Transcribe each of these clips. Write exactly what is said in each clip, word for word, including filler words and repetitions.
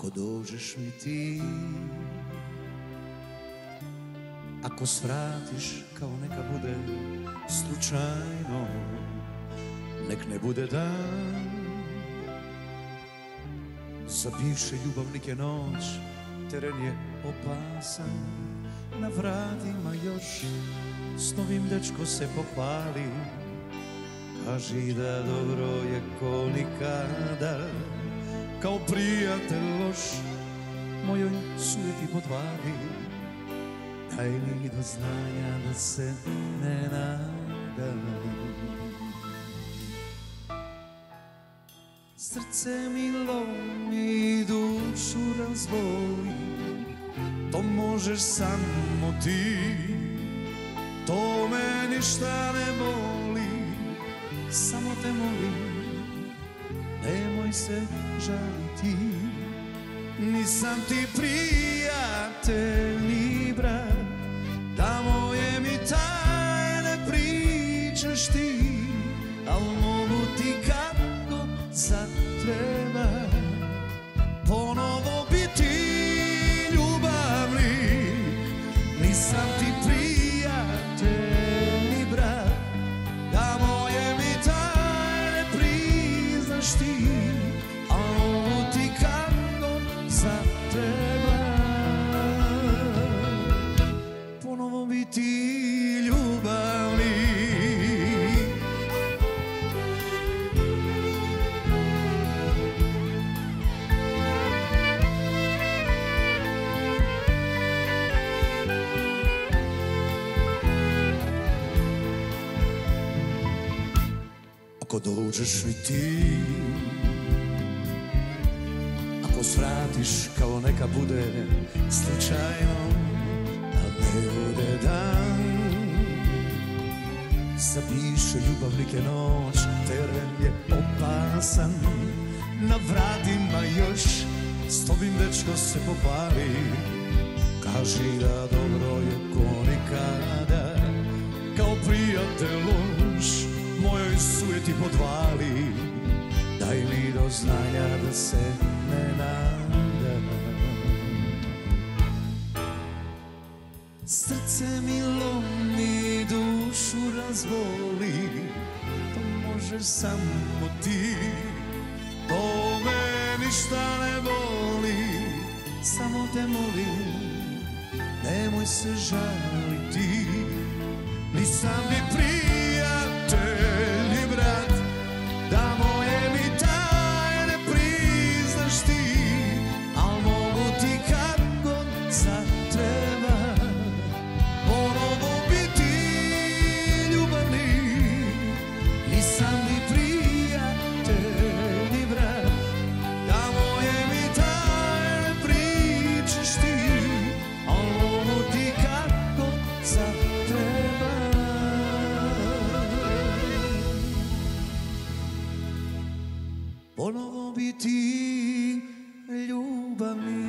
Ако dođeš mi ti, ako svratiš kao neka bude slučajno, nek ne bude dan. Za bivše ljubavnike noć, teren je opasan, na vratima još s novim dečko se pohvali. Kaži da dobro je ko nikada, kao prijatelj loš mojoj sujeti podvali. Daj mi do znanja da se ne nadam. Srce mi lomi, dušu razvoli, to možeš samo ti. To me ništa ne boli, samo te molim, nemoj se žaliti. Nisam ti prijatelj ni brat, da moje mi tajne pričaš ti, al mogu ti kako zatreba ponovo biti ljubavni. Nisam ti prijatelj ni brat, da moje mi tajne priznaš ti, al mogu ti kako zatreba ponovo biti ljubavni. Ako dođeš mi ti, ako svratiš kao neka bude slučajno, a ne bude dan. Zapiše ljubavnike noć, teren je opasan, na vratima još s tobim dečko se pohvali. Kaži da dobro je ko nikada, kao prijatelj loš mojoj sujeti podvali. Daj mi do znanja da se ne nadam. Srce mi lomi, dušu razvoli, to možeš samo ti. To me ništa ne boli, samo te molim, nemoj se žaliti. Nisam ni prijatelj ni brat, da moje mi tajne priznaš ti, al mogu ti kad god zatreba ponovo biti ljubavni. Nisam ni prijatelj ni brat, da moje mi tajne pričaš ti, al mogu ti kad god zatreba ponovo biti ljubavni.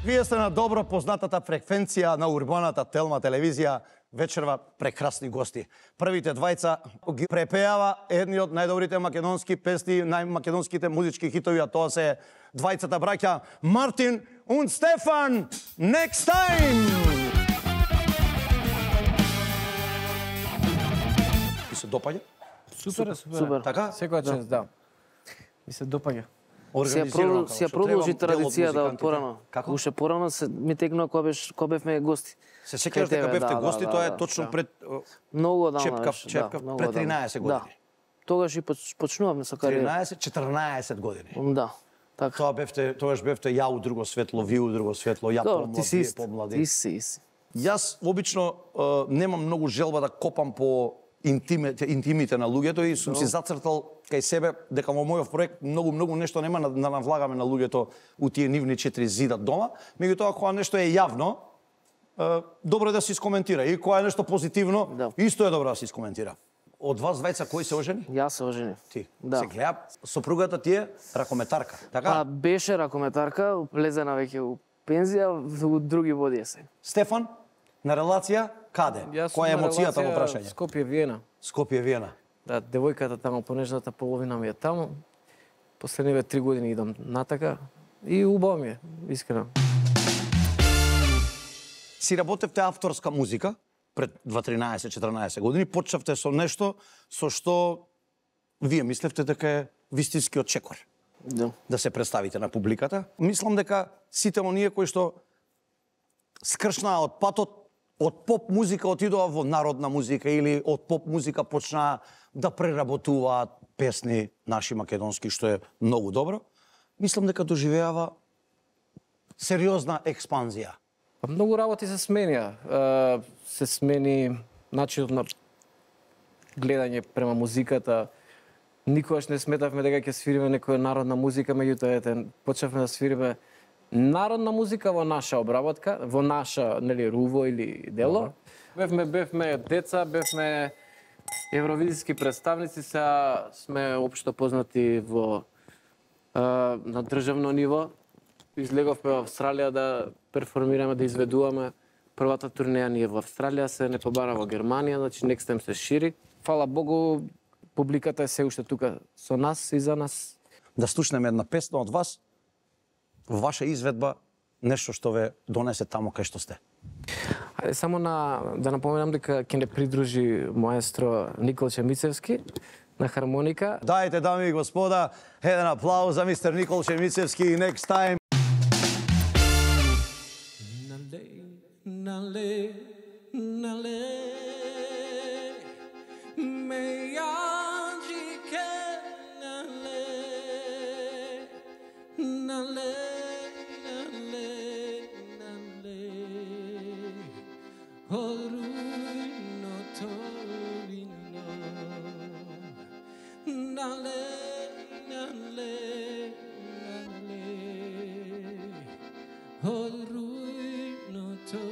Вие сте на добро познатата фреквенција на урбаната Телма телевизија, вечерва прекрасни гости. Првите двајца ги препеава едни од најдобрите македонски песни, најмакедонските музички хитови, а тоа се двајцата браќа Мартин и Стефан. Next time! И се допаѓа? Супер, супер. Така? Секоја чест, да. Ми се допаѓа. Си ја продолжи традицијата од порано. Како? Уште порано се ми текнува кога беше кога бевме гости. Се сеќаваш дека бевте гости, тоа е точно пред многу давно Чепкав, беше. Чепкав, пред тринаесет години. Тогаш и почнувавме со кариера. тринаесет четрнаесет години. Да. Така. Тоа бевте, тогаш бевте ја у друго светло, ви у друго светло, ја помлад, вие помлади. Ти си ист. Јас обично немам многу желба да копам по интимите, интимите на луѓето и сум си зацртал кај себе дека во мојов проект многу многу нешто нема да навлагаме на луѓето у тие нивни четири зида дома, меѓутоа кога нешто е јавно, добро е да се искоментира. И кога е нешто позитивно, Да. исто е добро да се искоментира. Од вас двајца кој се ожени? Јас се оженив. Ти. Да. Се гледа, сопругата ти е ракометарка, така? Па беше ракометарка, влезена веќе у пензија, у други води е се. Стефан, на релација, каде? Јас сум Која е на емоцијата во релација прашање? Скопје Виена. Скопје, Виена. Да, девојката таму, понежната половина ми е таму. Последниве три години идам натака и убаво ми е, искрено. Си работевте авторска музика пред дванаесет-четиринаесет години, почнавте со нешто со што вие мислевте дека е вистинскиот чекор. Да. Да се представите на публиката. Мислам дека сите оние кои што скршнаа од патот, од поп музика отидоа во народна музика или од поп музика почнаа да преработуваат песни наши македонски, што е многу добро. Мислам дека доживеава сериозна експанзија. Па многу работи се сменија. Е, се смени начинот на гледање према музиката. Никогаш не сметавме дека ќе свириме некоја народна музика, меѓутоа ете почнавме да свириме народна музика во наша обработка, во наша, нели, руво или дело. Бевме бевме деца, бевме евровизиски представници, сега сме општо познати во е, на државно ниво. Излеговме во Австралија да перформираме, да изведуваме. Првата турнеја ни е во Австралија, се не побара во Германија, значи next time се шири. Фала Богу, публиката е се уште тука со нас и за нас. Да слушнеме една песна од вас, во ваша изведба, нешто што ве донесе таму кај што сте. Ајде само на да напоменам дека ќе не придружи маестро Николче Мицевски на хармоника. Дајте, дами и господа, еден аплауз за мистер Николче Мицевски и next time. Nale, nale, me yaji nale, nale, nale, nale, horui no torino, nale, nale, nale, horui no torino.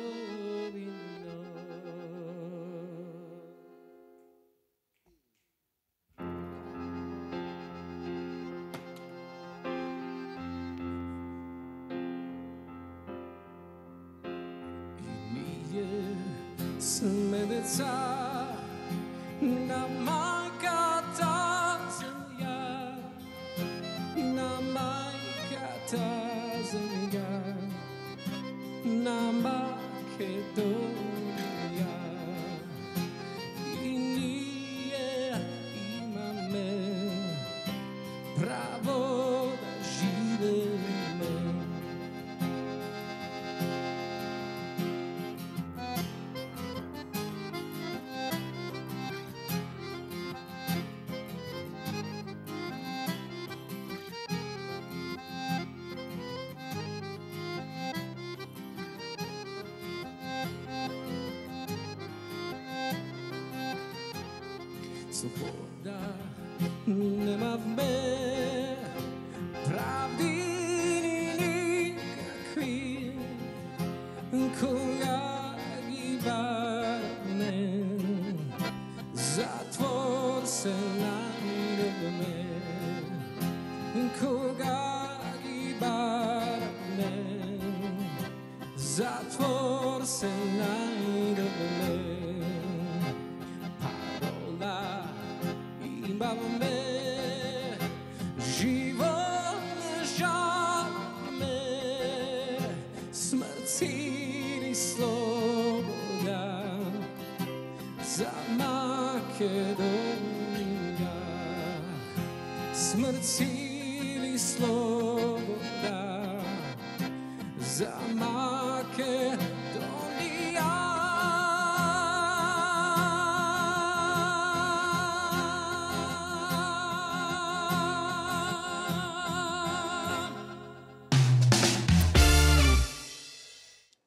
Sme deca na majka ta zemlja, na majka ta zemlja, na Makedonija. I nije imame pravo da živeme. Sloboda nema v me pravdi nikakvi koga gibane zatvor se najde v me koga gibane zatvor se najde v me me život ne žali me smrt ili sloboda za Makedonija smrt ili sloboda za Makedonija.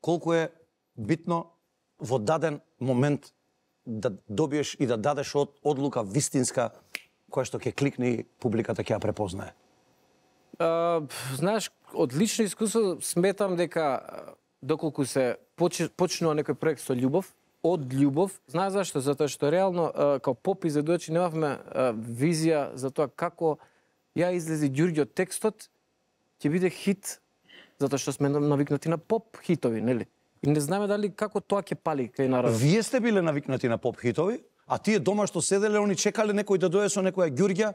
Колку е битно во даден момент да добиеш и да дадеш од одлука вистинска која што ќе кликне и публиката ќе ја препознае. А, знаеш, од лично искуство сметам дека доколку се поч, почнува некој проект со љубов, од љубов, знаеш зашто? Затоа што реално као поп изведувачи немавме визија за тоа како ја излези Ѓурѓо текстот ќе биде хит, затоа што сме навикнати на поп хитови, нели? И не знаеме дали како тоа ќе пали кај народот. Вие сте биле навикнати на поп хитови, а тие дома што седеле, они чекале некој да дојде со некоја Ѓурѓа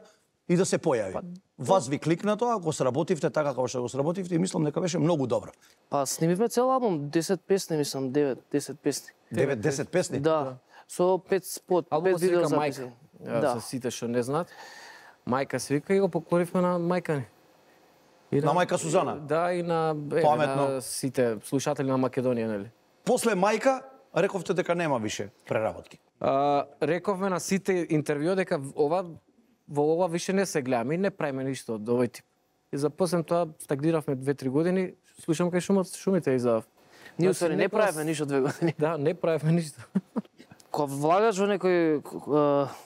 и да се појави. Па, вас ви кликна тоа, ако сработивте така како што го сработивте, и мислам дека беше многу добро. Па снимивме цел албум, десет песни, мислам, девет, десет песни. девет десет песни? Да. Со пет спот, Албумот пет се видео вика записи. Мајка. Да. За сите што не знаат. Мајка се вика и го поклонивме на мајка ни. И На мајка Сузана? Да, и на, е, Паметно. на сите слушатели на Македонија, нели? После мајка, рековте дека нема више преработки. А, рековме на сите интервју дека ова во ова више не се гледаме и не правиме ништо од овој тип. И за после тоа стагниравме две-три години, слушам кај шумот шумите и за. Ние Значи, усвари не некојаш- правиме ништо две години. Да, не правиме ништо. Кога влагаш во некој е,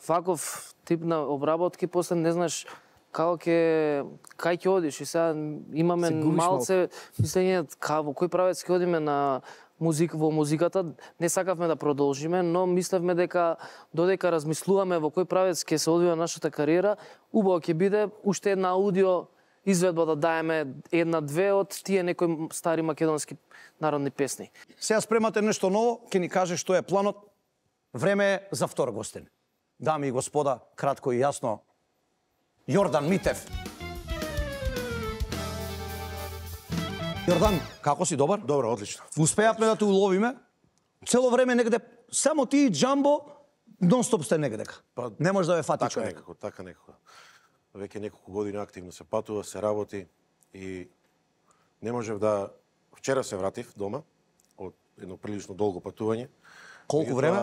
ваков тип на обработки, после не знаеш како ќе кај ќе одиш и сега имаме Се губиш малце мислење ка во кој правец ќе одиме на музик во музиката. Не сакавме да продолжиме, но мислевме дека додека размислуваме во кој правец ќе се одвива нашата кариера, убаво ќе биде уште една аудио изведба да даеме една-две од тие некои стари македонски народни песни. Сега спремате нешто ново, ќе ни каже што е планот. Време е за втор гостин. Дами и господа, кратко и јасно, Јордан Митев. Јордан, како си, добар? Добро, одлично. Успеавме да те уловиме. Цело време негде, само ти и Джамбо, нон-стоп сте негдека. Па, Не може да ве фати Така човек. некако, така некако. Веќе неколку години активно се патува, се работи и не можев да... Вчера се вратив дома од едно прилично долго патување. Колку Меѓутоа, време?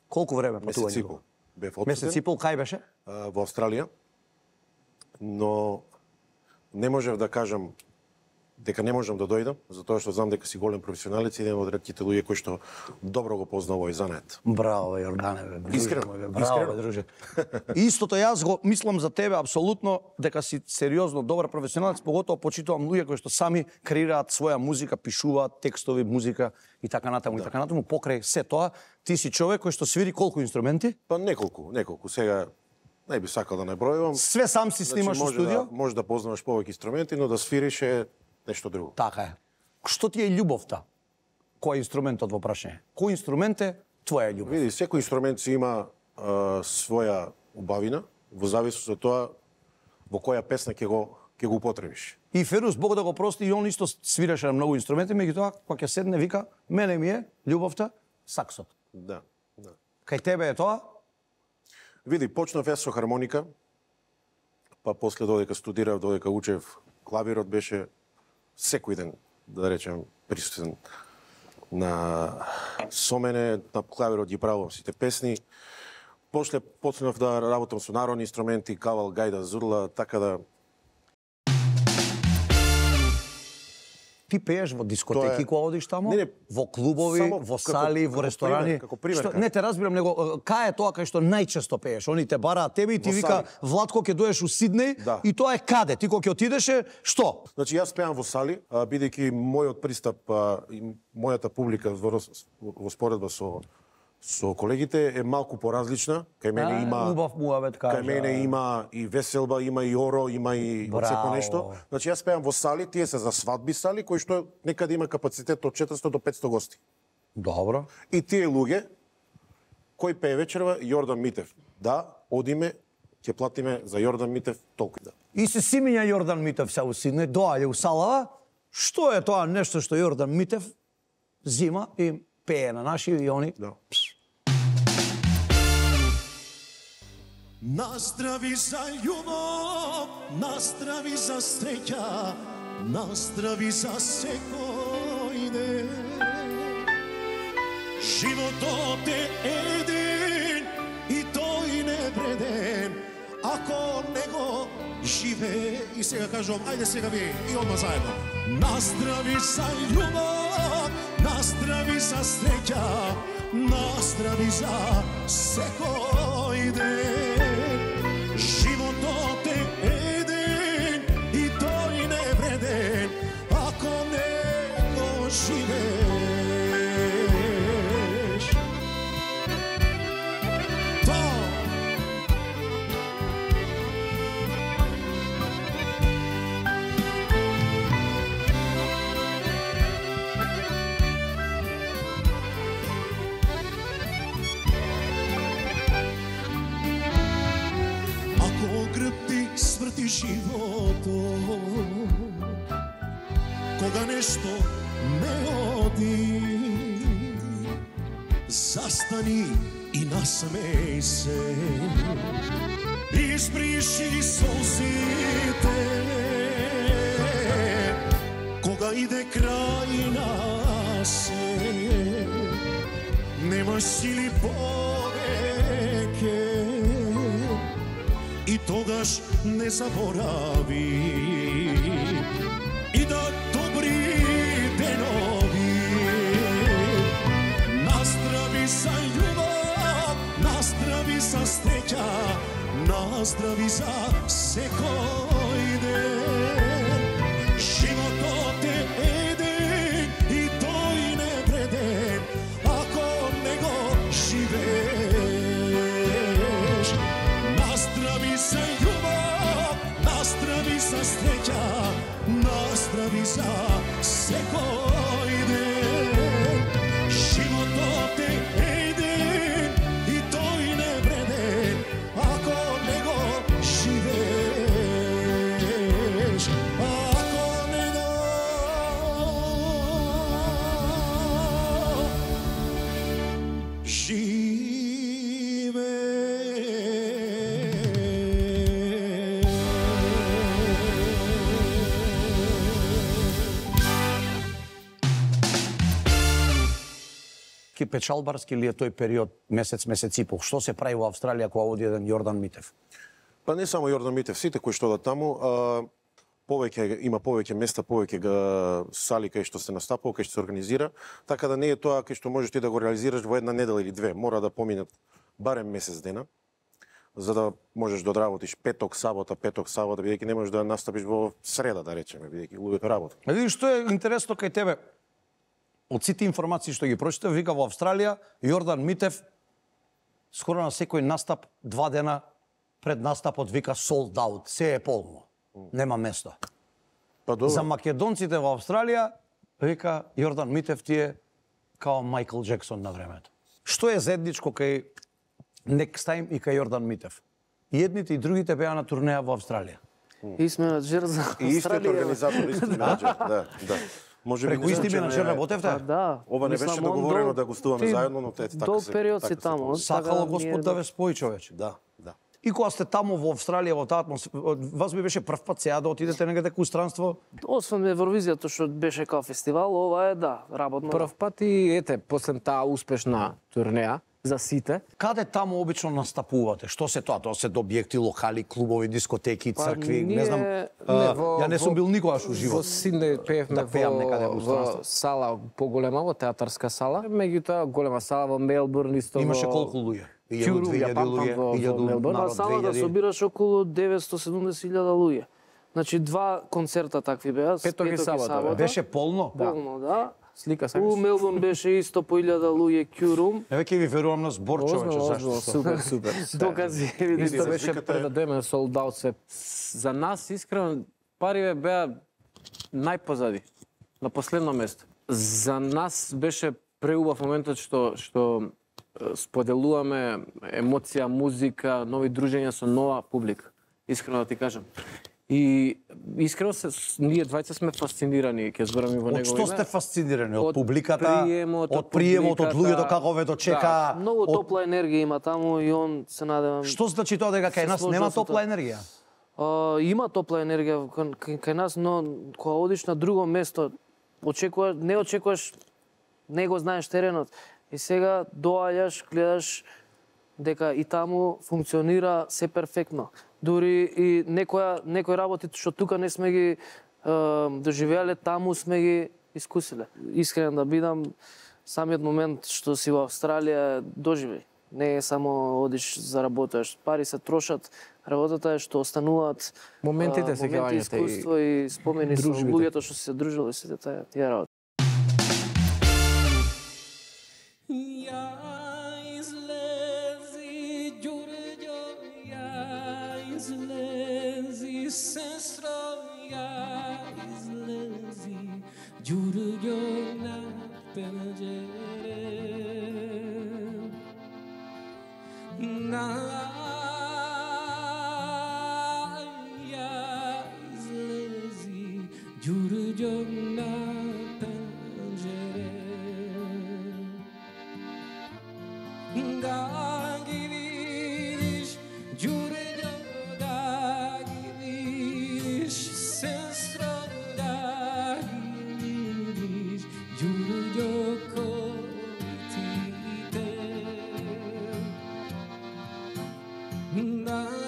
Колку време Месец патување? и пол. Бев Месец и отсутен пол, кај беше? а, во Австралија, но не можев да кажам дека не можам да дојдам, затоа што знам дека си голем професионалец и еден од ретките луѓе кои што добро го познава овој занет. Браво, бе, Јордане, бе, друже Искрено, мој, бе, браво, искрено. бе, друже. Истото јас го мислам за тебе апсолутно дека си сериозно добар професионалец, поготово почитувам луѓе кои што сами креираат своја музика, пишуваат текстови, музика и така натаму и така натаму. Покрај се тоа, ти си човек кој што свири колку инструменти? Па неколку, неколку. Сега не би сакал да не бројувам. Све сам си снимаш во може студио? Да, може да познаваш повеќе инструменти, но да свириш е нешто друго. Така е. Што ти е љубовта? Кој е инструментот во прашање? Кој инструмент е твоја љубов? Види, секој инструмент си има а, своја убавина, во зависност од тоа во која песна ќе го ќе го употребиш. И Ферус, Бог да го прости, и он исто свираше на многу инструменти, меѓутоа кога ќе седне вика, мене ми е љубовта саксот. Да, да. Кај тебе е тоа? Види, почнав јас со хармоника, па после додека студирав, додека учев, клавирот беше секој ден, да речем, присутен на со мене, на клавирот ги правувам сите песни. После почнав да работам со народни инструменти, кавал, гајда, зурла, така да Ти пееш во дискотеки Тоа е- кога одиш таму? Не, не, во клубови, само во како- сали, како во ресторани? пример, како пример Што, кажам. не те разбирам, него е, кај е тоа кај што најчесто пееш? Они те бараат тебе и ти Во вика сали. Владко ќе доеш у Сиднеј Да. и тоа е каде? Ти кога ќе отидеше, што? Значи, јас пеам во сали, а, бидејќи мојот пристап а, и мојата публика во, рос- во споредба со со колегите е малку поразлична. Кај мене А, има убав муавет кажа. Кај мене има и веселба, има и оро, има и од секој Браво. нешто. Значи јас пеам во сали, тие се за свадби сали кои што некаде има капацитет од четиристотини до петстотини гости. Добро. И тие луѓе кој пее вечерва Јордан Митев. Да, одиме, ќе платиме за Јордан Митев толку да. И се симиња Јордан Митев се у Сиднеј, доаѓа у салава. Што е тоа нешто што Јордан Митев зима и пее на наши и они? Да. Наздрави за љубов, наздрави за среќа, наздрави за секој ден. Животот е еден и тој не бреден, ако не го живее. И сега кажувам, ајде сега вие и одма заедно. Наздрави за љубов, наздрави за среќа, наздрави за секој ден. Животот е еден и тој не вреден, ако не го живее. сврти животот, кога нешто не оди, застани и насмеј се, исприши солзите, кога иде крај на се, немаш сили повеќе, и тогаш не заборави и да добри денови. Наздрави за љубов, наздрави за среќа, наздрави за секој ден. Животот е еден и тој не вреден, ако не го живееш. Наздрави за љубов, наздрави за среќа, наздрави за секој ден. Животот е еден и тој не вреден, ако не го живееш. Ако не го Ки печалбарски ли е тој период, месец, месец и пол? Што се прави во Австралија кога оди еден Јордан Митев? Па не само Јордан Митев, сите кои што одат таму, а, повеќе има повеќе места, повеќе га сали кај што се настапува, кај што се организира, така да не е тоа кај што можеш ти да го реализираш во една недела или две, мора да поминат барем месец дена, за да можеш да одработиш петок, сабота, петок, сабота, бидејќи не можеш да настапиш во среда, да речеме, бидејќи луѓето работат. А видиш што е интересно кај тебе? Од сите информации што ги прочитав, вика во Австралија, Јордан Митев скоро на секој настап, два дена пред настапот вика sold out, се е полно. Нема место. Па добро. За македонците во Австралија, вика Јордан Митев ти е као Майкл Джексон на времето. Што е заедничко кај Next Time и кај Јордан Митев? И едните и другите беа на турнеја во Австралија. И менаџер за И истиот Австралија. организатор, истиот менаџер, да, да. Може би Преку не исти знам, че менаџер не- работевте? Па да. Ова не Мислам, беше он договорено дол- да гостуваме ти заедно, но ете, така долг се- период така си се таму. получи. Сакало Така, Господ ние- да ве спои, човече. Да, да. И кога сте таму во Австралија, во таа атмосфера, вас би беше прв пат сега да отидете негде ку странство? Освен Евровизијата што беше као фестивал, ова е да, работно. Прв пат и ете, после таа успешна турнеја за сите, Каде таму обично настапувате? Што се тоа? Тоа се до објекти, локали, клубови, дискотеки, Па, цркви, ние- не знам. не, а, во- ја не сум во- бил никогаш у во живот. Сиднеј пеевме Да пеам некаде во во, странство. во сала поголема, во театарска сала. Меѓутоа голема сала во Мелбурн исто. Имаше во... колку луѓе? Кјурум, две ја илјади памтам луѓе, во- во илјаду Мелбурн. Па народ, салата две илјади. собираш околу деветстотини и седумдесет илјади луѓе. Значи два концерта такви беа, Петок и сабота, бе. Беше полно? Полно, да. Слика У сакаш? Мелбурн беше исто по илјада луѓе Кјурум. Еве ќе ви верувам на збор, човече, Озбилно, зашто? озбилно, супер, супер. Докази, видите. Исто беше Сликата е- пред да дојме sold out се. За нас искрено париве беа најпозади, на последно место. За нас беше преубав моментот што што е, споделуваме емоција, музика, нови дружења со нова публика. Искрено да ти кажам. И искрено се ние двајца сме фасцинирани, ќе зборам и во Од негово што име. сте фасцинирани? Од Од публиката, приемот, од од приемот, од публиката. луѓето како ве дочека? Многу од- топла енергија има таму и он се надевам. Што значи тоа дека кај Се нас сложил нема со топла тоа. енергија? А, има топла енергија кај, кај, кај нас, но кога одиш на друго место, очекуваш, не очекуваш, не го знаеш теренот. И сега доаѓаш, гледаш дека и таму функционира се перфектно. Дури и некоја некои работи што тука не сме ги е, доживеале, таму сме ги искусиле. Искрен да бидам, самиот момент што си во Австралија доживеј. Не е само одиш за работаш, пари се трошат, работата е што остануваат Моментите, а, сеќавањата моменти, и искуство и спомени со дружбите. луѓето што се дружиле сите тие тие работи. Ja izlezi, Đurđo, ja izlezi, sestro, ja izlezi, Đurđo na penđere. Na, ja Giurgio na pencere Da gividish Giurgio da gividish Sestro da gividish Giurgio koitite Da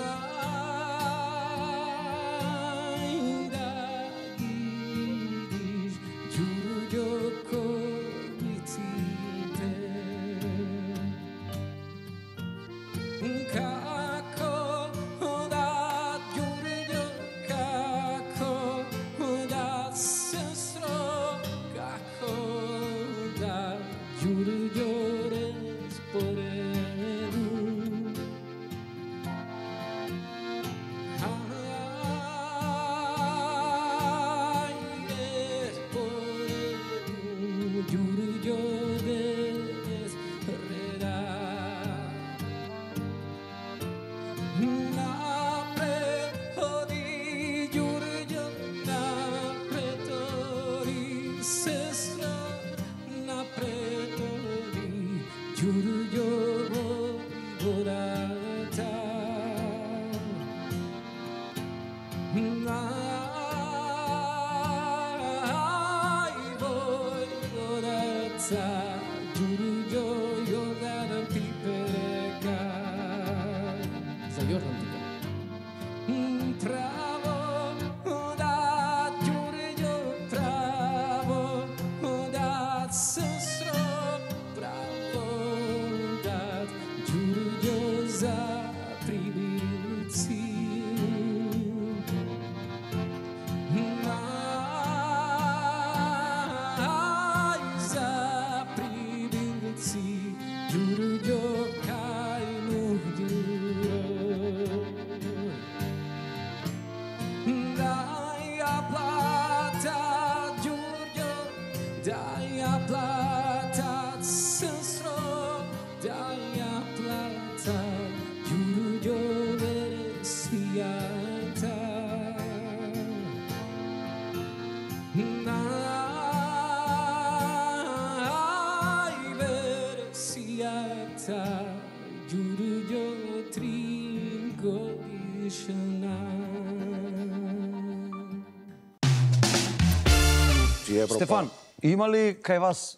Стефан, има ли кај вас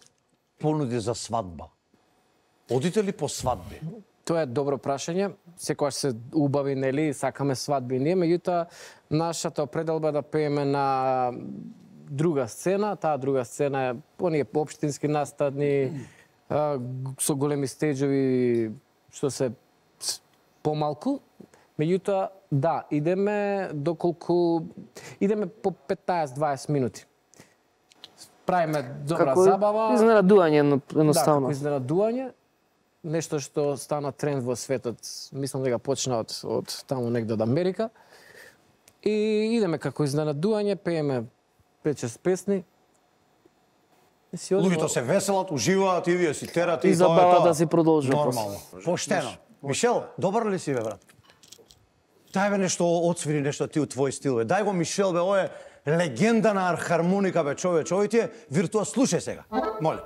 понуди за свадба? Одите ли по свадби? Тоа е добро прашање. Секогаш се убави, нели, сакаме свадби ние, меѓутоа нашата определба да пееме на друга сцена, таа друга сцена е оние општински настадни а, со големи стеџови што се помалку. Меѓутоа, да, идеме доколку идеме по петнаесет до дваесет минути. Правиме добра Како забава. изненадување едноставно. Да, како изненадување. Нешто што стана тренд во светот, мислам дека почна од, од таму негде од Америка. И идеме како изненадување, пееме пет-шест песни. Луѓето се веселат, уживаат и вие си терате И и тоа е забавата тоа. си продолжува. Нормално. Поштено. Мишел, добар ли си бе, брат? Дај бе нешто, отсвири нешто ти у твој стил бе. Дај го Мишел бе, ој е легенда на хармоника бе, човече. Овој ти е виртуоз. Слушај сега. Моле.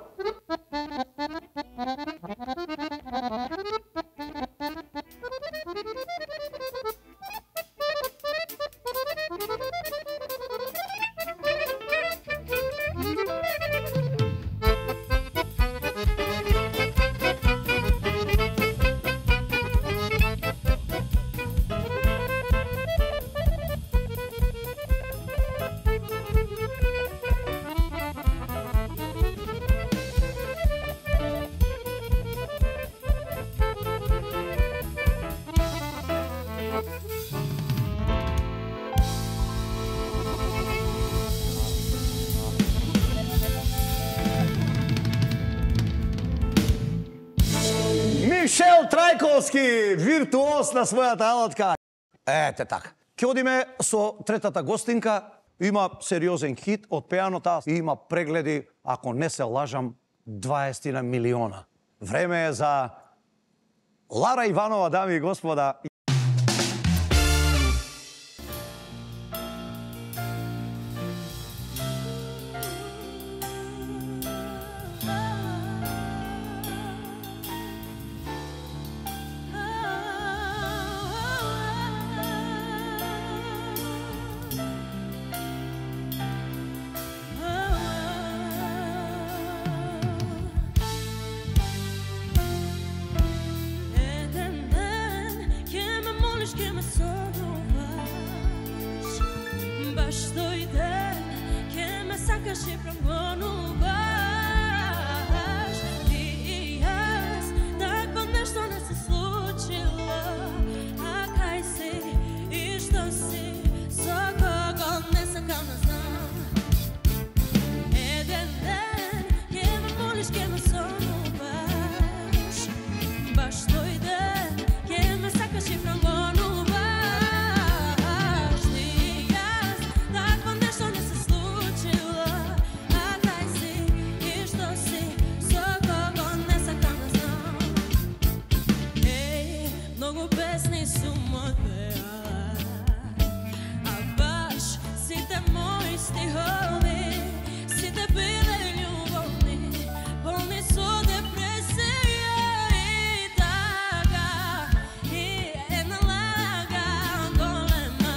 Мишел Трајковски, виртуоз на својата алатка. Ете така. Ќе одиме со третата гостинка. Има сериозен хит од пеанота и има прегледи, ако не се лажам, дваесет милиона. Време е за Лара Иванова, дами и господа. Баш тој ден ке ме сакаш и прогонуваш. Ти и јас, такво нешто не се случило. А кај си и што си, со кого не сакам да знам. Еден ден ке ме молиш, ке ме сонуваш. Баш тој ден ке ме сакаш и прогонуваш. Ти и јас, такво нешто не се случило. А кај си и што си, со кого не сакам да знам. Еј, многу песни сум одпеала, а баш сите мои стихови, сите биле љубовни, полни со депресија и тага. И една лага голема,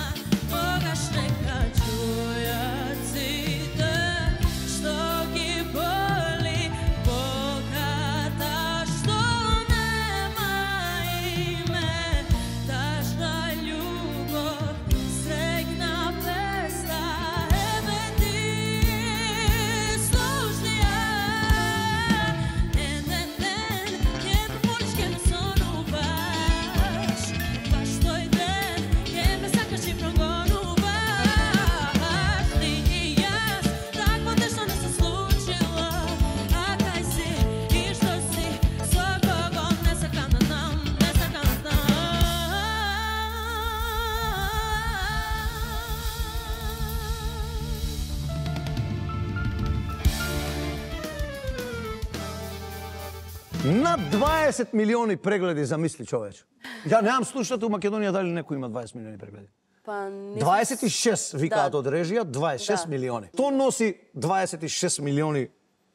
тогаш нека чујат сите што ги боли богата, што нема име, тажна љубов, среќна песна. Еве ти слушни ја. Еден ден ке ме молиш, ке ме сонуваш. Баш тој ден ке ме сакаш и прогонуваш. Ти и јас, такво нешто не се случило. А кај си и што си, со кого не сакам да знам, не сакам да знам. Над дваесет милиони прегледи, замисли човече. Ја немам слушнато у Македонија дали некој има дваесет милиони прегледи. Па не дваесет и шест викаат Да. од режија, дваесет и шест Да. милиони. Тоа носи дваесет и шест милиони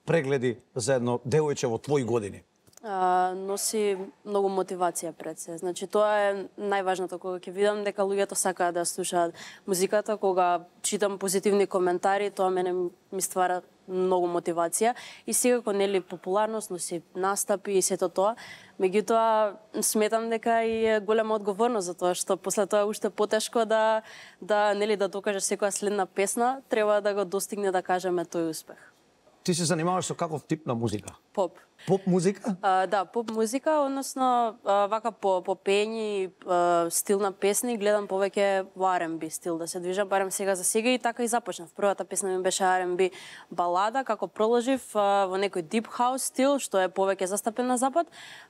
прегледи за едно девојче во твои години. а, носи многу мотивација пред се. Значи тоа е најважното кога ќе видам дека луѓето сакаат да слушаат музиката, кога читам позитивни коментари, тоа мене ми ствара многу мотивација и секако нели популарност, носи настапи и сето тоа. Меѓутоа сметам дека и е голема одговорност за тоа што после тоа е уште потешко да да нели да докажеш секоја следна песна, треба да го достигне, да кажеме, тој успех. Ти се занимаваш со каков тип на музика? Поп. Поп музика? А, да, поп музика, односно а, вака по по пење, а, стил на песни, гледам повеќе во Ар енд Би стил да се движам, барем сега за сега и така и започнав. Првата песна ми беше Ар енд Би балада, како проложив а, во некој дип хаус стил, што е повеќе застапен на запад,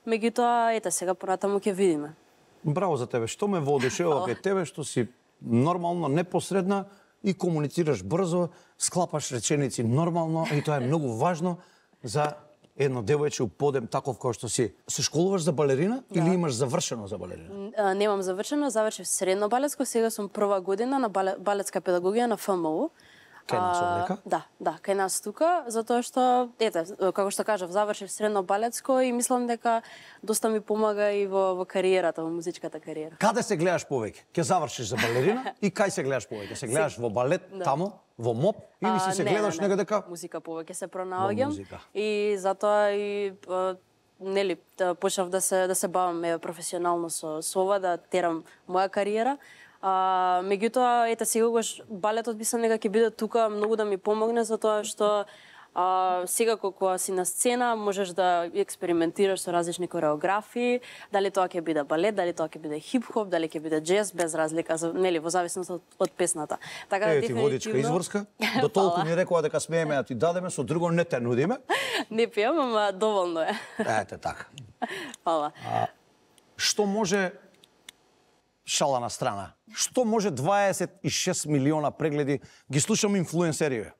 меѓутоа ете сега понатаму ќе видиме. Браво за тебе. Што ме воодушевува кај тебе, што си нормално, непосредна и комуницираш брзо, склапаш реченици нормално и тоа е многу важно за едно девојче у подем таков кој што си. Се школуваш за балерина или имаш завршено за балерина? А, немам завршено, завршив средно балетско, сега сум прва година на бале- балетска педагогија на Ф М У. Кај нас А, овдека? Да, да, кај нас тука, затоа што, ете, како што кажав, завршив средно балетско и мислам дека доста ми помага и во, во кариерата, во музичката кариера. Каде се гледаш повеќе? Ќе завршиш за балерина и кај се гледаш повеќе? Се гледаш во балет тамо, во МОП или си А, се не, гледаш не, не. негде дека Музика повеќе се пронаоѓам музика. и затоа и а, нели да почнав да се да се бавам е, професионално со со ова, да терам моја кариера. А, меѓутоа, ете, сегогаш балетот мислам дека ќе биде тука многу да ми помогне, затоа што а, сега кога си на сцена можеш да експериментираш со различни кореографии, дали тоа ќе биде балет, дали тоа ќе биде хип-хоп, дали ќе биде джез, без разлика, за, нели, во зависност од, од песната. Така Е, ти водичка изворска, до толку ни рекоа дека смееме да ти дадеме, со друго не те нудиме. Не пијам, ама доволно е. Ете така. Фала. Што може, шала на страна, што може дваесет и шест милиона прегледи, ги слушам инфлуенсериве.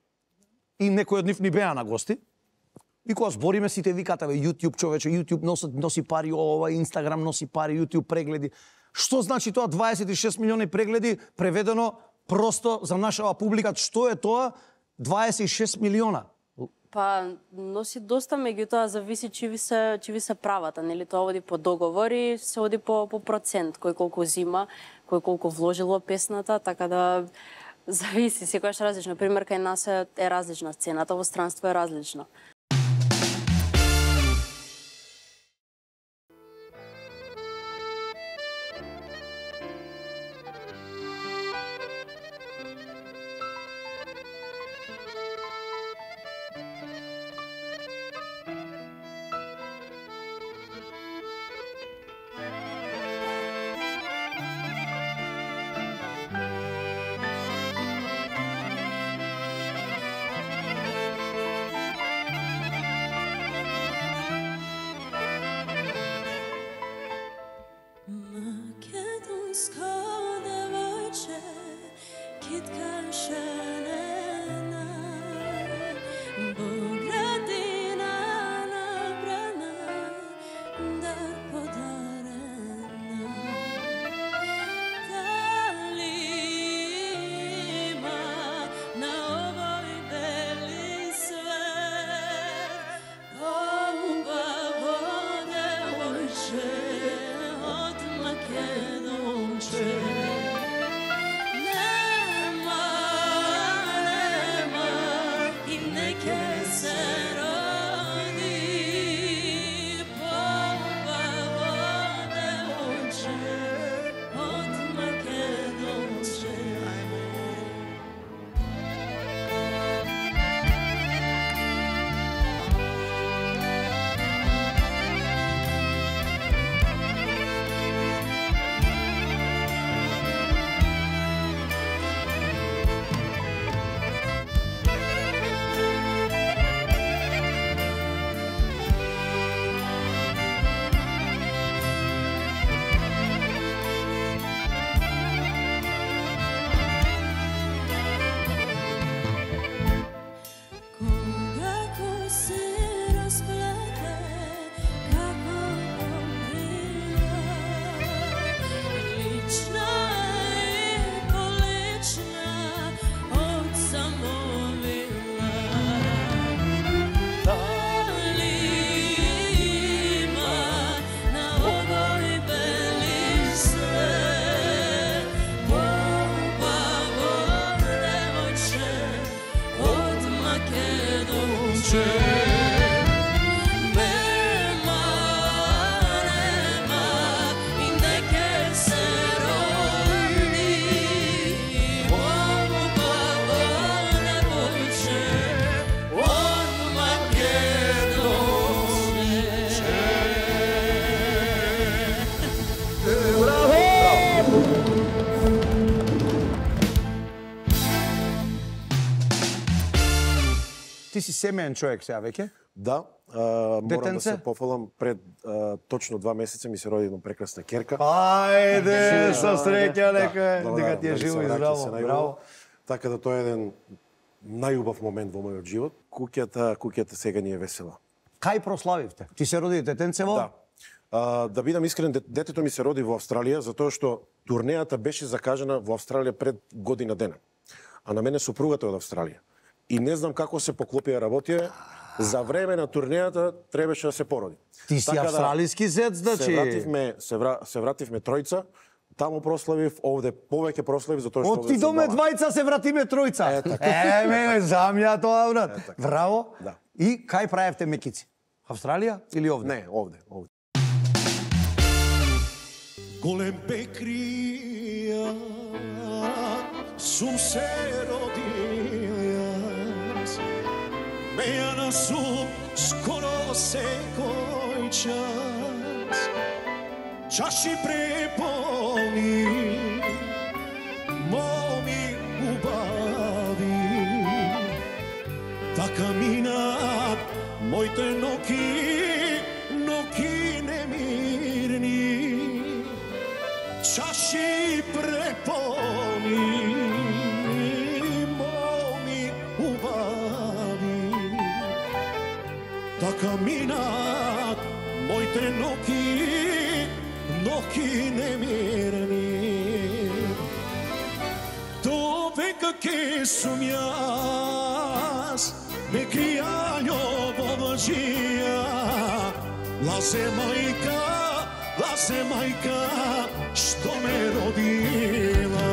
И некои од нив ни беа на гости. И кога збориме сите викате, бе, YouTube човече, YouTube носи, носи пари, ова, Instagram носи пари, YouTube прегледи. Што значи тоа дваесет и шест милиони прегледи, преведено просто за нашава публика, што е тоа дваесет и шест милиона? Па носи доста, меѓутоа зависи чи ви се чи ви се правата, нели тоа оди по договори, се оди по по процент, кој колку зима, кој колку вложил во песната, така да зависи, секојаш различно. Пример кај нас е, е различна сцената, во странство е различно. Ти си семеен човек сега веќе? Да, а, морам Детенце? да се пофалам пред а, точно два месеца ми се роди една прекрасна керка. Ајде, со среќа лека, Добра, дека ти е дали живо се и враќа здраво. се најубаво. Браво. Така да тоа е еден најубав момент во мојот живот. Куќата, куќата сега ни е весела. Кај прославивте? Ти се роди детенцево? Да. А, да бидам искрен, детето ми се роди во Австралија затоа што турнејата беше закажана во Австралија пред година дена. А на мене супругата е од Австралија. И не знам како се поклопија работија, за време на турнејата требаше да се породи. Ти си Така да, австралиски зет, значи. Се вративме, се, вра, се вративме тројца, таму прославив, овде повеќе прославив затоа што Од ти до ме двајца се вратиме тројца. Е, така. Е, ме, замја тоа, брат. Е, така. Браво. Да. И кај правевте мекици? Австралија или овде? Не, овде, овде. Голем пекрија сум се родил јас. Мејана сум скоро секој час. Чаши преполни, моми убави. Така минат моите ноки, ноки немирни. Чаши преполни, моми убави. Така минат моите ноки, ноки немирни. До века ке сум јас, ме кријањо во лжија. Лазе мајка, лазе мајка, што ме родила.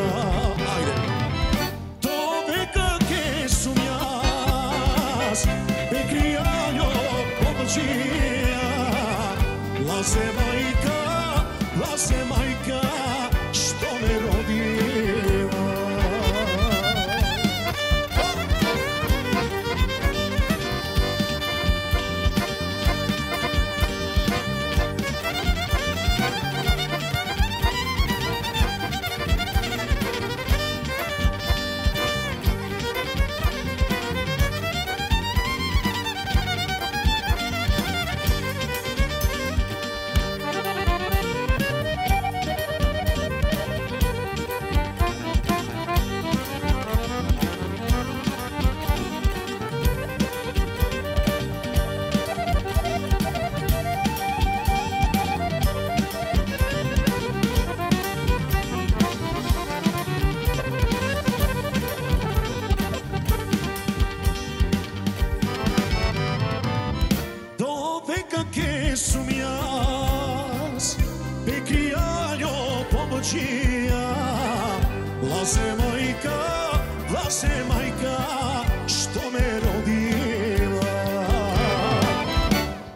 Ајде. До века ке сум јас, ме кријањо во лжија. Лазе мајка, лазе мајка, што ме родила. Božija. Laze majka, laze majka, što me rodila.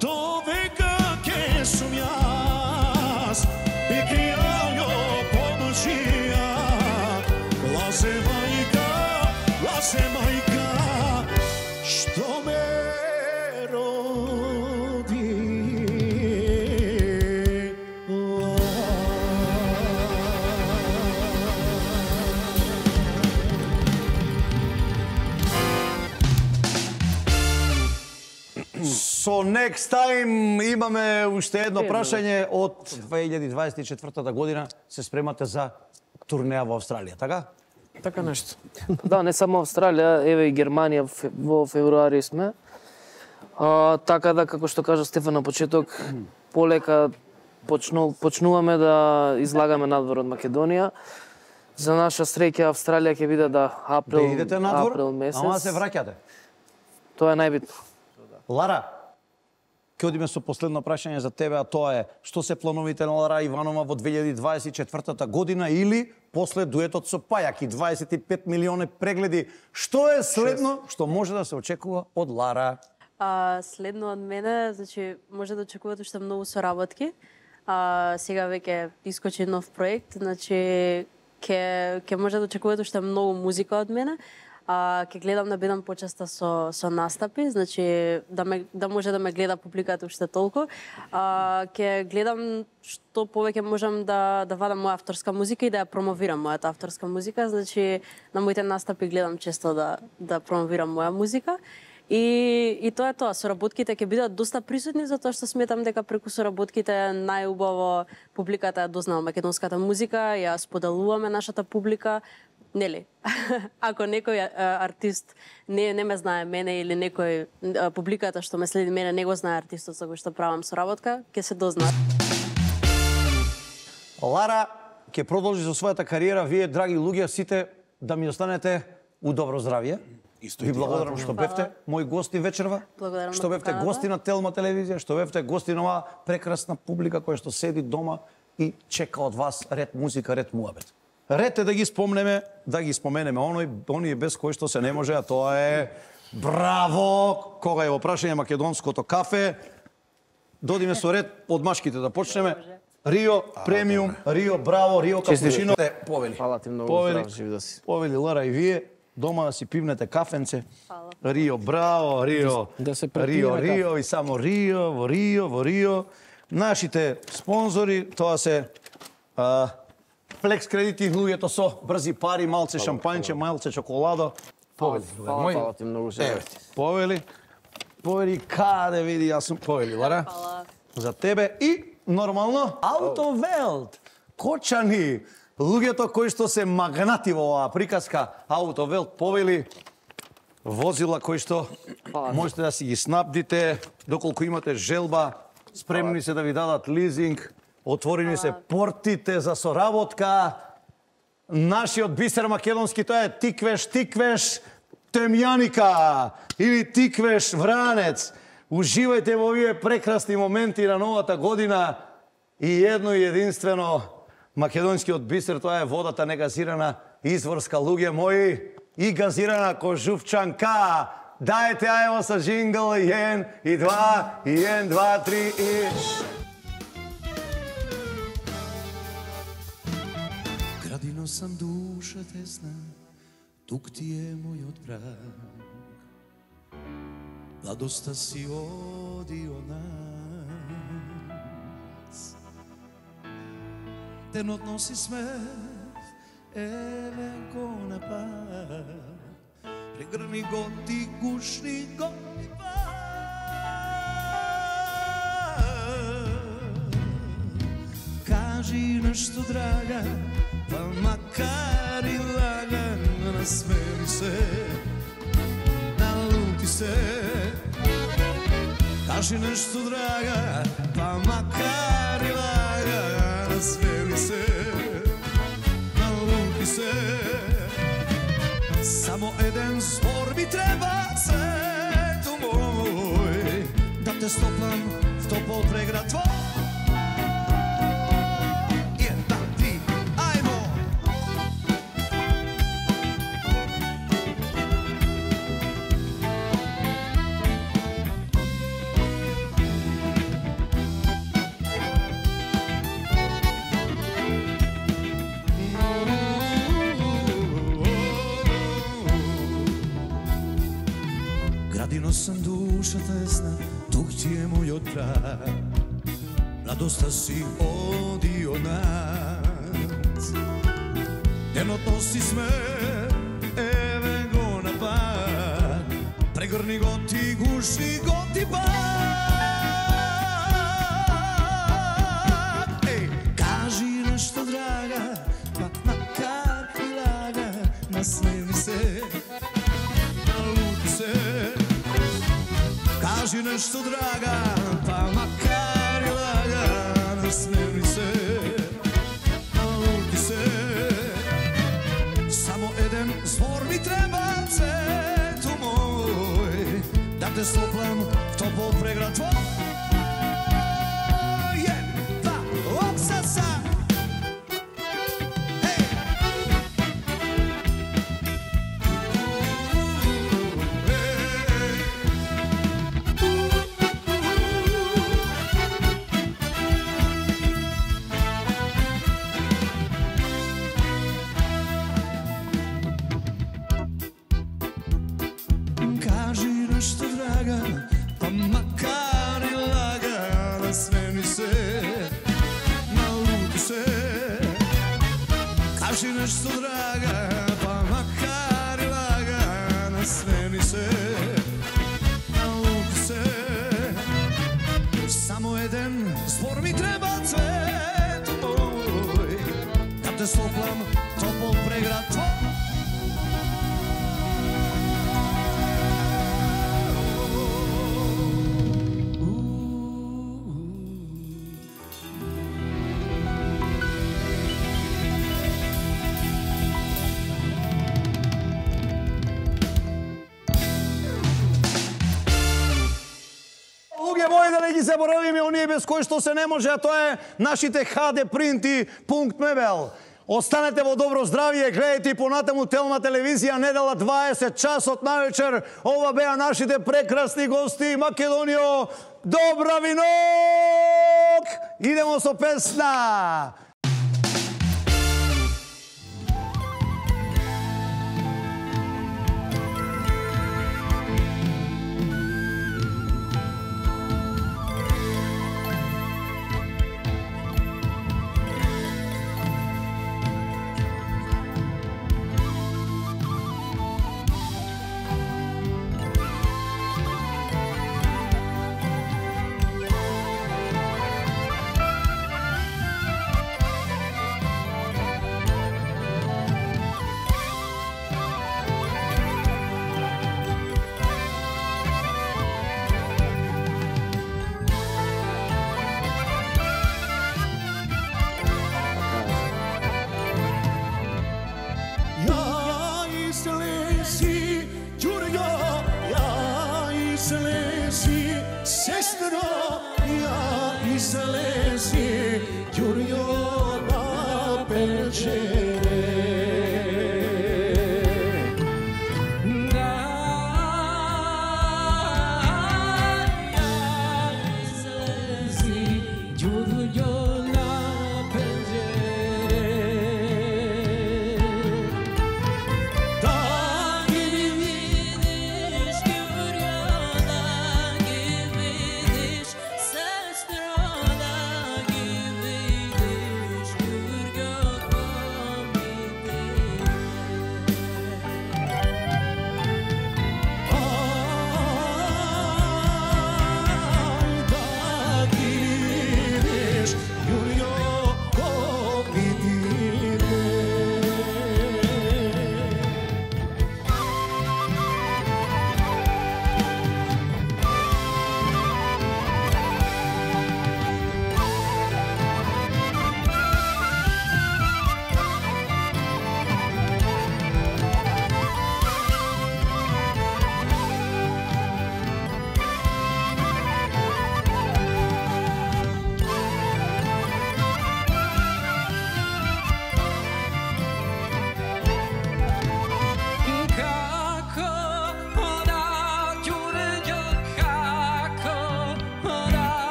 To veka ke sum jaz, i krijajo Božija. Laze majka, laze majka, što me So next time имаме уште едно прашање од две илјади дваесет и четвртата година се спремате за турнеја во Австралија, така? Така нешто. Да, не само Австралија, еве и Германија во февруари сме. А, така да, како што кажа Стефан на почеток, полека почну, почнуваме да излагаме надвор од Македонија. За наша среќа Австралија ќе биде да април, Да идете надвор, април месец. ама се враќате. Тоа е најбитно. Лара, ќе одиме со последно прашање за тебе, а тоа е што се плановите на Лара Иванова во две илјади дваесет и четвртата година или после дуетот со Пајаки, дваесет и пет милиони прегледи. Што е следно што може да се очекува од Лара? А, следно од мене, значи, може да очекувате уште многу соработки. А, сега веќе искочи нов проект, значи, ќе ќе може да очекувате уште многу музика од мене. А, ќе гледам да бидам почеста со со настапи, значи да ме да може да ме гледа публиката уште толку. А, ќе гледам што повеќе можам да да вадам моја авторска музика и да ја промовирам мојата авторска музика, значи на моите настапи гледам често да да промовирам моја музика. И и тоа е тоа, соработките ќе бидат доста присутни затоа што сметам дека преку соработките најубаво публиката ја дознава македонската музика, ја споделуваме нашата публика. Нели? Ако некој а, артист не не ме знае мене или некој а, публиката што ме следи мене не го знае артистот со кој што правам соработка, ќе се дознае. Лара ќе продолжи со својата кариера, вие драги луѓе сите да ми останете у добро здравје. Исто Ви и ти. благодарам што бевте мои гости вечерва. Благодарам Што на бевте поканата. гости на Телма телевизија, што бевте гости на оваа прекрасна публика која што седи дома и чека од вас ред музика, ред муабет. Ред е да ги спомнеме, да ги споменеме оној, оние без кои што се не може, а тоа е браво, кога е во прашање македонското кафе. Додиме со ред од машките да почнеме. Рио, премиум, Рио, браво, Рио, капучино. Повели. Фала ти многу, Повели. здрав жив да си. Повели Лара и вие, дома да си пивнете кафенце. Фала. Рио, браво, Рио. Да се препие Рио, на кафе. Рио и само Рио, во Рио, во Рио. Нашите спонзори, тоа се а, Флекс кредити, луѓето со брзи пари, малце шампањче, малце чоколадо. Повели, Фала, мој. фала ти многу, Еве, жив. повели. Повели, каде види, јас сум повели, Лара. Фала. За тебе и нормално Аутовелт. Кочани, луѓето кои што се магнати во оваа приказка, Аутовелт повели возила кои што можете да си ги снабдите доколку имате желба, спремни се да ви дадат лизинг, отворени се портите за соработка. Нашиот бисер македонски тоа е Тиквеш, Тиквеш, Темјаника или Тиквеш, Вранец. Уживајте во овие прекрасни моменти на новата година и едно и единствено македонскиот бисер, тоа е водата негазирана, изворска, луѓе мои, и газирана кожувчанка. Дајте ајво со жингл, и ен, и два, и ен, два, три, и... Градино сам душа тесна, тук ти е мојот брак. Младоста си оди од нас. Денот носи смех, еленко на пак. Прегрни го ти, гушни го ти пак. Кажи нешто, драга, па макар и лаган, насмели се, налути се. Кажи нешто, драга, па макар и лаган, насмели се, налути се. Само еден збор ми треба, сето мој, да те стопам в топол преград твој. Јадино сам душа тесна, тук ти е мојот крак. Радоста си оди од нас. Денот носи сме, еве го напад. Прегрни го ти, гуши го ти пак. Еј, кажи нешто драга, па макар и лага, насмеви се, налути се. Кажи нешто драга, па макар и лага, насмеви се, налути се. Само еден збор ми треба, цето мој, да те стоплам в топол преград твој. Јен, два, опсаса. Кажи нешто драга, па макар и лага, насмени се, налути се. Кажи нешто драга, па макар и лага, насмени се, налути се. Само еден збор ми треба, цвето мој, да те стоплам топол преград твој. Луѓе мои, да не ги заборавиме оние без кои што се не може, а тоа е нашите ха де принти пункт мебел. Останете во добро здравје, гледајте и понатаму Телма телевизија, недела дваесет часот навечер. Ова беа нашите прекрасни гости, Македонијо, добра винок! Идемо со песна!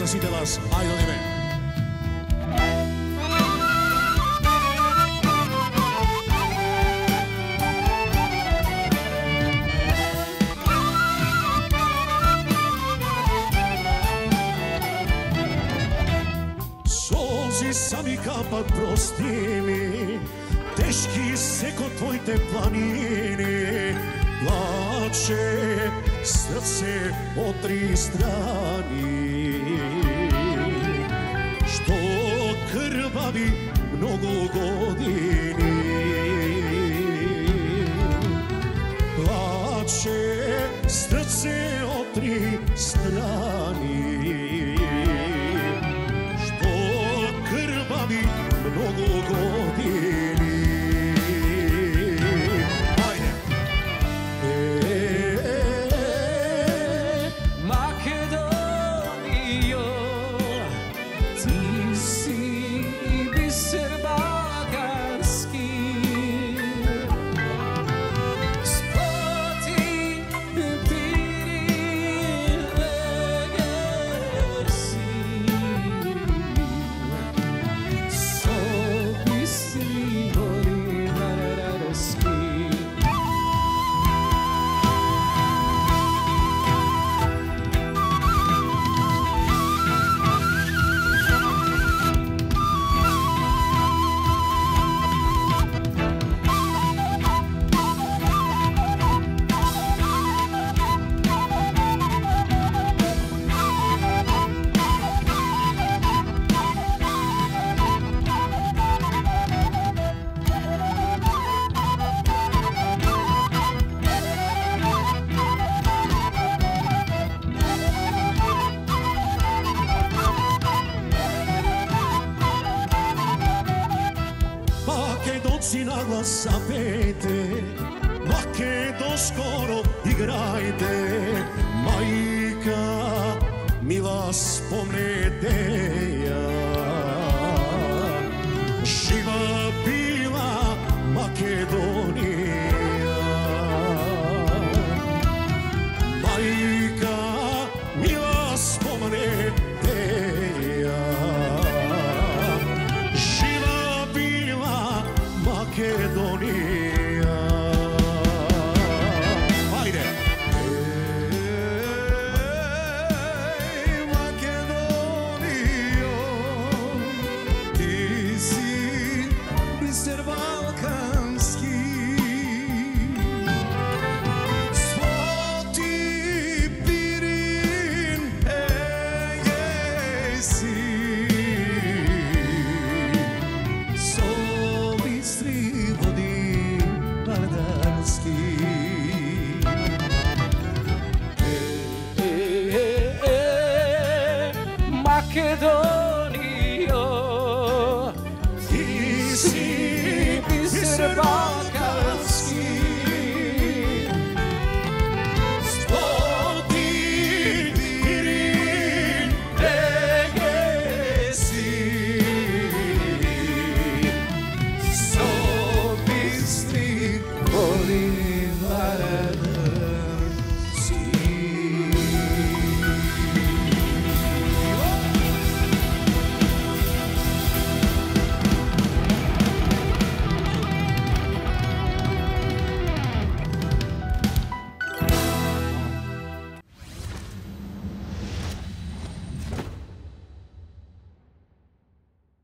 сите вас. Ајде одиме. Солзи сами капат, прости ми, тешки секо твоите планини. Плаче срце од три страни, што крвави многу години. Плаче срце од три страни, што крвави многу години. Македонци на глас запејте, македонскоро играјте, мајка мила спомнете